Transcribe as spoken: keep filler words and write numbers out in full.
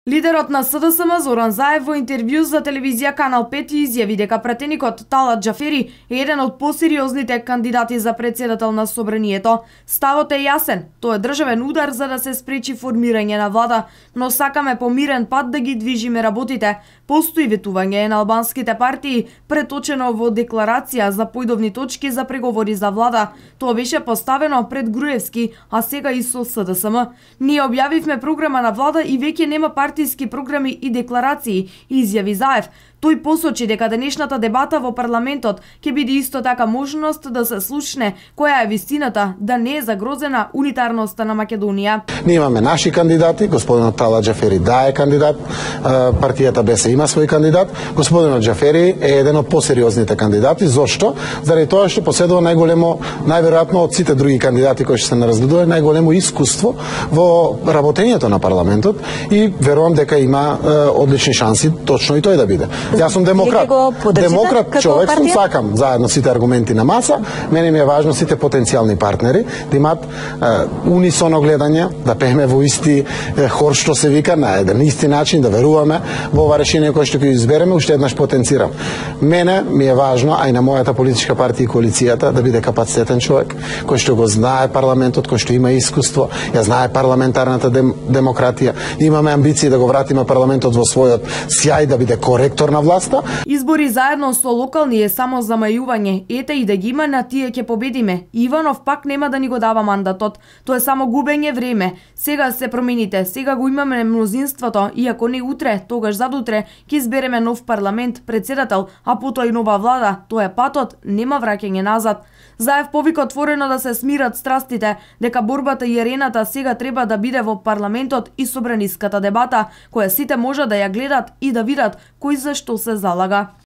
Лидерот на С Д С М Зоран Заев во интервју за телевизија Канал пет изјави дека пратеникот Талат Џафери е еден од посериозните кандидати за председател на Собранието. Ставот е јасен, тоа е државен удар за да се спречи формирање на влада, но сакаме по мирен пат да ги движиме работите. Постои ветување на албанските партии, преточено во декларација за појдовни точки за преговори за влада. Тоа беше поставено пред Груевски, а сега и со С Д С М. Ние објавивме програма на влада и веќе нема партија партиски програми и декларации, изјави Заев. Тој посочи дека денешната дебата во парламентот ќе биде исто така можност да се слушне која е вистината, да не е загрозена унитарноста на Македонија. Ние имаме наши кандидати, господинот Талат Џафери да е кандидат, партијата Б С има свој кандидат, господинот Џафери е еден од посериозните кандидати. Зошто? Заради тоа што поседува најголемо, најверојатно од сите други кандидати кои што се наразгледува, најголемо искуство во работењето на парламентот и верувам дека има е, одлични шанси точно и тој да биде. Јас сум демократ. Демократ човек сум, сакам заедно сите аргументи на маса. Мене ми е важно сите потенцијални партнери да имаат е, унисоно гледање, да пееме во исти е, хор што се вика, на еден исти начин, да веруваме во ова решение кое што ќе избереме, уште еднаш потенцирам. Мене ми е важно, а и на мојата политичка партија и коалицијата, да биде капацитетен човек, кој што го знае парламентот, кој што има искуство, ја знае парламентарната дем, демократија. Имаме амбиции да го вратиме парламентот во својот сјај, да биде коректор на власта. Избори заедно со локални е само замајување. Ете и да ги има, на тие ќе победиме. Иванов пак нема да ни го дава мандатот. Тоа е само губење време. Сега се промените, сега го имаме мнозинството и ако не утре, тогаш задутре ќе избереме нов парламент, председател, а потоа и нова влада. Тоа е патот, нема враќање назад. Заев повика отворено да се смират страстите, дека борбата и арената сега треба да биде во парламентот и собраниската дебата, која сите може да ја гледат и да видат кој за што се залага.